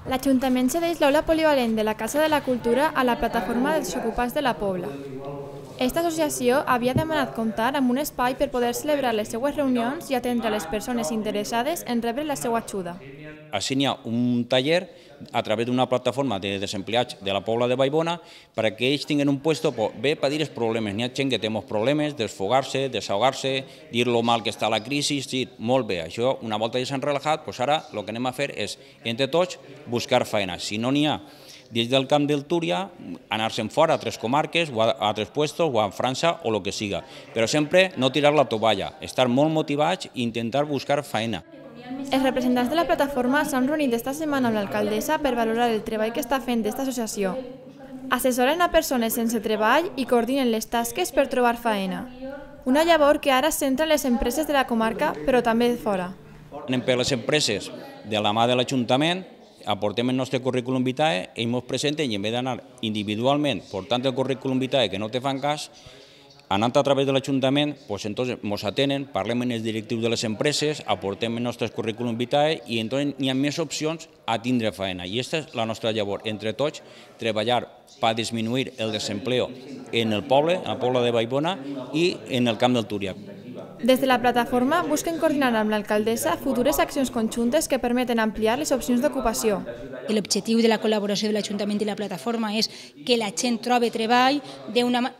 L'Ajuntament cedeix l'aula polivalent de la Casa de la Cultura a la Plataforma dels Desocupats de la Pobla. Esta associació havia demanat comptar amb un espai per poder celebrar les seues reunions i atendre a les persones interessades en rebre la seva ajuda. Així n'hi ha un taller a través d'una plataforma de desempleats de la Pobla de Vallbona perquè ells tinguin un puesto bé per dir els problemes. N'hi ha gent que té molts problemes, desfogar-se, desahogar-se, dir lo mal que està la crisi, sí, molt bé. Això, una volta ja s'han relaxat, doncs ara el que anem a fer és, entre tots, buscar feina. Si no n'hi ha des del Camp del Túria, anar-se'n fora a altres comarques o a altres puestos o a França o el que siga. Però sempre no tirar la tovalla, estar molt motivats i intentar buscar feina. Els representants de la plataforma s'han reunit esta setmana amb l'alcaldessa per valorar el treball que està fent aquesta associació. Assessoren a persones sense treball i coordinen les tasques per trobar feina. Una llavor que ara es centra en les empreses de la comarca, però també de fora. Anem per les empreses de la mà de l'Ajuntament, aportem el nostre currículum vitae, ells ens presenten i en vez d'anar individualment portant el currículum vitae que no te fan cas, anant a través de l'Ajuntament, ens atenen, parlem amb els directius de les empreses, aportem el nostre currículum vitae i entonces hi ha més opcions a tindre feina. I aquesta és la nostra llavor, entre tots, treballar per disminuir el desempleo en el poble, a la Pobla de Vallbona i en el Camp del Túria. Des de la plataforma busquen coordinar amb l'alcaldessa futures accions conjuntes que permeten ampliar les opcions d'ocupació. L'objectiu de la col·laboració de l'Ajuntament i la plataforma és que la gent trobi treball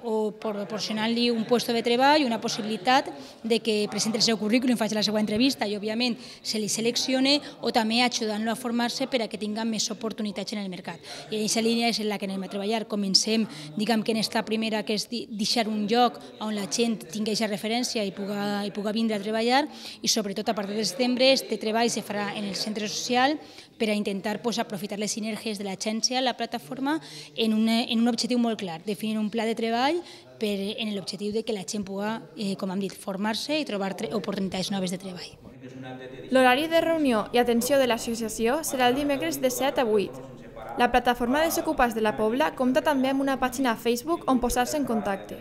o proporcionar-li un lloc de treball, una possibilitat de que presenti el seu currículum, faci la seva entrevista i, òbviament, se li seleccione o també ajudant-lo a formar-se per a que tinga més oportunitats en el mercat. I en aquesta línia és en la que anem a treballar. Comencem, diguem que en esta primera, que és deixar un lloc on la gent tingui aquesta referència i pugui vindre a treballar i, sobretot, a partir de setembre, este treball se farà en el centre social per a intentar aprofitar les sinergies de l'agència, la plataforma, en un objectiu molt clar, definir un pla de treball en l'objectiu que la gent pugui, com hem dit, formar-se i trobar oportunitats noves de treball. L'horari de reunió i atenció de l'associació serà el dimecres de 7 a 8. La plataforma de Desocupats de la Pobla compta també amb una pàgina a Facebook on posar-se en contacte.